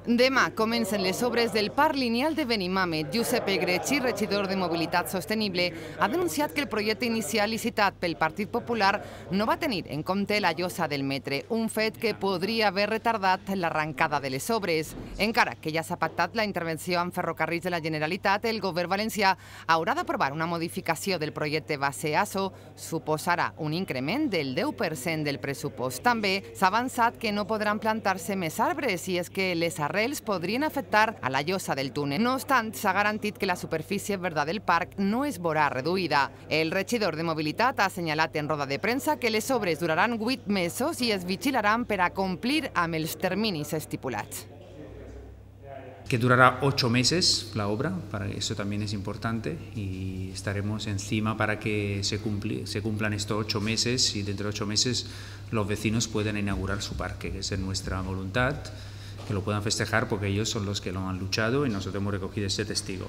Demà comencen les obres del Parc Lineal de Benimàmet. Josep Egrechi, regidor de Mobilitat Sostenible, ha denunciat que el projecte inicial licitat pel Partit Popular no va tenir en compte la llosa del metre, un fet que podria haver retardat l'arrencada de les obres. Encara que ja s'ha pactat la intervenció amb Ferrocarrils de la Generalitat, el govern valencià haurà d'aprovar una modificació del projecte base ASO, suposarà un increment del 10% del pressupost. També s'ha avançat que no podran plantar-se més arbres i és que les arrels podrien afectar a la llosa del túnel. No obstant, s'ha garantit que la superfície verda del parc no es veurà reduïda. El regidor de Mobilitat ha assenyalat en roda de premsa que les obres duraran 8 mesos i es vigilaran per a complir amb els terminis estipulats. Que durará 8 meses la obra, para eso también es importante, y estaremos encima para que se cumplan estos 8 meses y dentro de 8 meses los vecinos puedan inaugurar su parque, que es nuestra voluntad, que lo puedan festejar porque ellos son los que lo han luchado y nosotros hemos recogido este testigo.